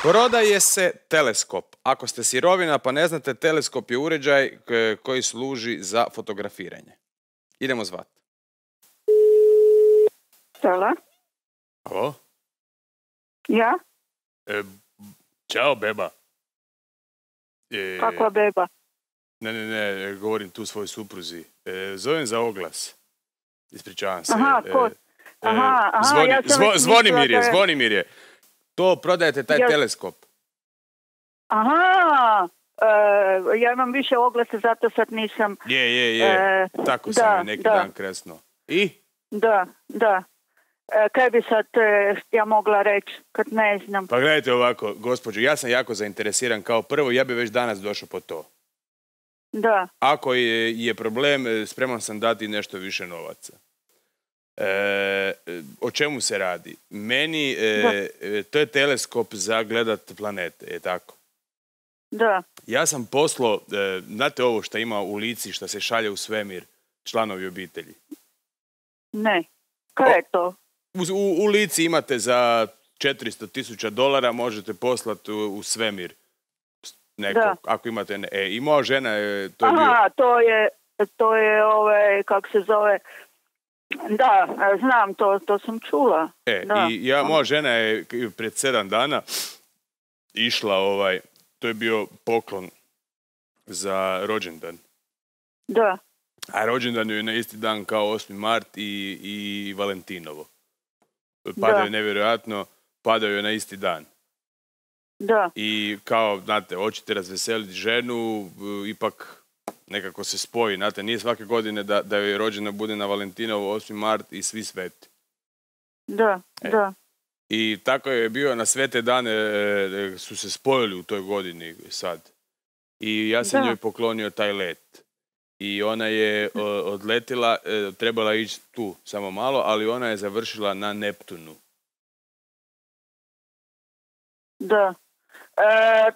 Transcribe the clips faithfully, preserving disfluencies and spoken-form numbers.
Prodaje se teleskop. Ako ste sirovina pa ne znate, teleskop je uređaj koji služi za fotografiranje. Idemo zvat. Stella? Alo? Ja? E, čao, beba. E, Kakva beba? Ne, ne, ne, govorim tu svojoj supruzi. E, zovem za oglas. Ispričavam se. Aha, ko? E, aha, aha, zvoni, ja sam zvo, već Zvonimir je, mislila da je- Zvonimir je. To prodajete, taj Ja- teleskop. Aha, e, ja imam više oglasa, zato sad nisam... Je, je, je. E, Tako da, sam je neki da. dan kresno. I? Da, da. E, kaj bi sad e, ja mogla reći, kad ne znam? Pa gledajte ovako, gospođo, ja sam jako zainteresiran kao prvo, ja bi već danas došao po to. Da, Ako je, je problem, e, spreman sam dati nešto više novaca. E, o čemu se radi? Meni, e, e, to je teleskop za gledat planete, je tako? da. Ja sam poslao, e, znate ovo što ima u Lici, što se šalje u svemir, članovi obitelji. Ne. Kaj je to? U, u, u Lici imate za četiristo tisuća dolara, možete poslati u, u svemir. Nekog, Da. ako imate... Ne, e, i moja žena je... To je bio, Aha, to je, to je ove, kak se zove... Da, e, znam, to, to sam čula. e, Da. I ja, moja žena je pred sedam dana išla ovaj... To je bio poklon za rođendan. Da, A rođendan je na isti dan kao osmi mart i, i Valentinovo. Padaju Da. nevjerojatno, padaju na isti dan. da. I kao, znate, hoćete razveseliti ženu, e, ipak nekako se spoji. Znate, nije svake godine da, da joj rođena bude na Valentinovo, osmi mart i svi sveti. Da, E. da. I tako je bio, na svete dane e, su se spojili u toj godini sad. I ja sam Da. njoj poklonio taj let. I ona je o, odletila, e, trebala ići tu samo malo, ali ona je završila na Neptunu. Da. E,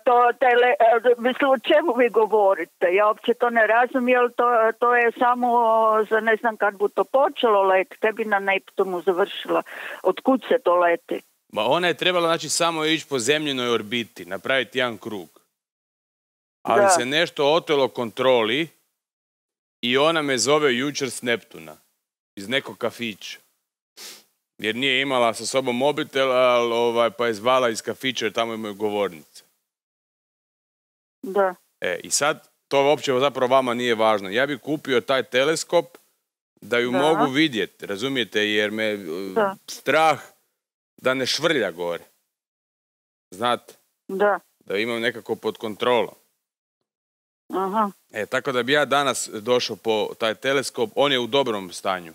to tele, e, mislim, o čemu vi govorite? Ja uopće to ne razumijem, jer to, to je samo za ne znam kad bu to počelo let, tebi na Neptunu završila. Otkud se to leti? Ma ona je trebala, znači, samo ići po zemljinoj orbiti, napraviti jedan krug. Ali Da. se nešto otelo kontroli i ona me zove jučer s Neptuna. Iz nekog kafića. Jer nije imala sa sobom mobitel, ali, ovaj, pa je zvala iz kafića jer tamo imaju govornice. Da, E, i sad, to uopće zapravo vama nije važno. Ja bi kupio taj teleskop da ju Da. mogu vidjeti, razumijete, jer me uh, Da. strah da ne švrlja gore. Znate, da. da imam nekako pod kontrolom. Aha. E, tako da bi ja danas došao po taj teleskop, on je u dobrom stanju.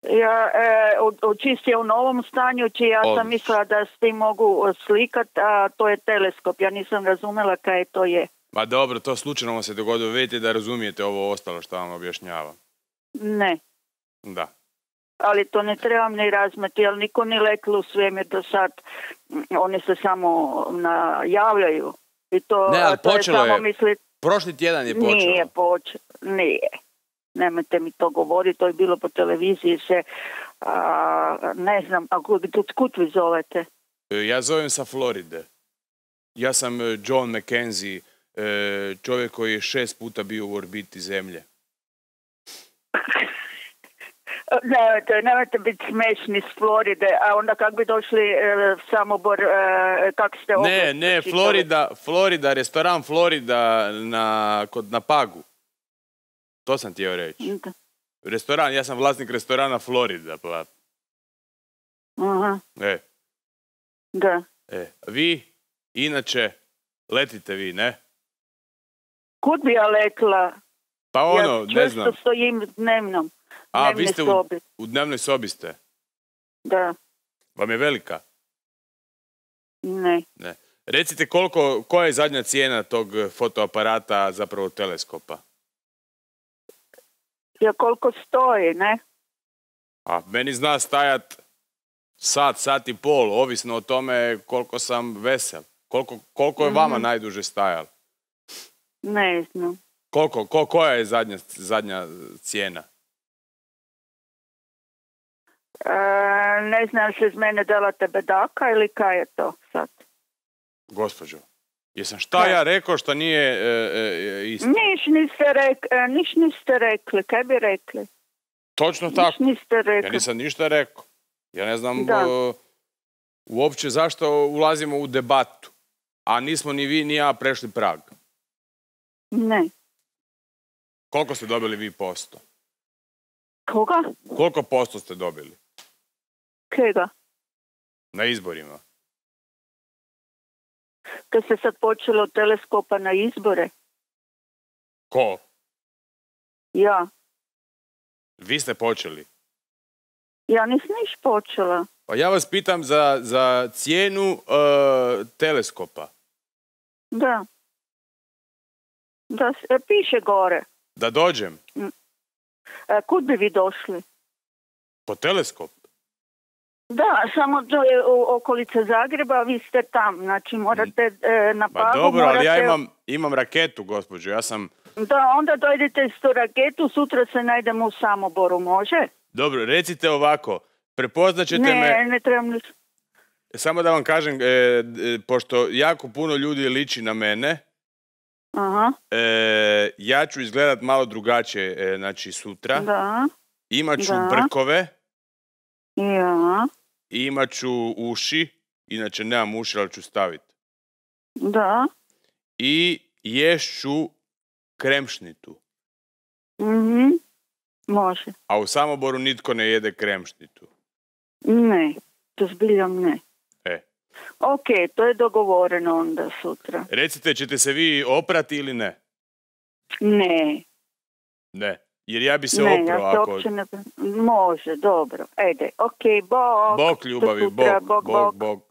Ja, e, u- u čist je u novom stanju, či ja Odlično. sam mislila da s tim mogu slikat, a to je teleskop. Ja nisam razumjela kaj to je. Ma dobro, to slučajno vam se dogodilo, vidite da razumijete ovo ostalo što vam objašnjavam. Ne. Da. Ali to ne trebam ni razmeti, jer niko ni letilo u svemir do sad. Mm, Oni se samo najavljaju. I to, Ne, ali to je počelo samo je. misli, Prošli tjedan je počelo. nije počelo. Nije. Nemojte mi to govoriti, to je bilo po televiziji se, a, ne znam, a kud, kud vi zovete? E, Ja zovem sa Floride. Ja sam e, John McKenzie, e, čovjek koji je šest puta bio u orbiti zemlje. Nemojte, nemojte biti smešni s Floride, a onda kak bi došli e, Samobor, e, kak ste Ne, oglas ne, pročitali? Florida, Florida, restoran Florida na, kod, na Pagu. To sam htio reći. Da. Restoran, ja sam vlasnik restorana Florida. Pa, Aha, e, da. e. Vi, inače, letite vi, ne? Kud bi ja letila? Pa ono, ja ne često znam. stojim dnevnom. A, dnevne vi ste u, sobi. u dnevnoj sobi ste. Da, Vam je velika? ne. Ne. Recite koliko, koja je zadnja cijena tog fotoaparata, zapravo teleskopa? Ja koliko stoji, ne? A meni zna stajat sat, sat i pol, ovisno o tome koliko sam vesel. Koliko, koliko je vama Mhm. najduže stajalo? Ne znam. Koliko, ko, koja je zadnja, zadnja cijena? E, ne znam se iz mene delate bedaka ili kaj je to sad? Gospođo, jesam šta ja rekao što nije e, e, isto? Niš niste, rek, e, niš niste rekli, kaj bi rekli? Točno Niš tako. niste rekli. Ja nisam ništa rekao. Ja ne znam Da. o, uopće zašto ulazimo u debatu. A nismo ni vi ni ja prešli prag. Ne. Koliko ste dobili vi posto? Koga? Koliko posto ste dobili Kega? na izborima? Kad se sad počelo od teleskopa na izbore? Ko? Ja. Vi ste počeli. Ja nisam niš počela. Pa ja vas pitam za, za cijenu e, teleskopa. Da. Da, s- e, piše gore. Da dođem E, kud bi vi došli? po teleskop. Da, samo to je u okolice Zagreba, a vi ste tam. Znači morate e, na Pa Pagu, dobro, ali ja morate- imam, imam raketu, gospođo. Ja sam... Da, onda dojdete s tu raketu, sutra se najdemo u Samoboru, može? Dobro, recite ovako. Prepoznat ćete Ne, me... ne trebam niš. Samo da vam kažem, e, e, pošto jako puno ljudi liči na mene, Aha, e, ja ću izgledat malo drugačije, e, znači sutra. da, Imat ću Da. brkove, ja, i imat ću uši, inače nemam uši, ali ću staviti. da, I ješću kremšnitu. mhm, može. A u Samoboru nitko ne jede kremšnitu. Ne, to zbiljam ne. E. Ok, to je dogovoreno onda sutra. Recite, ćete se vi oprati ili ne? Ne, Ne. Jer ja bi se ne, oprao ja se ako... uopće ne... Može, dobro, ede, ok, bok. Bog ljubavi, Do sutra, bog, bok, bog, bok. bog.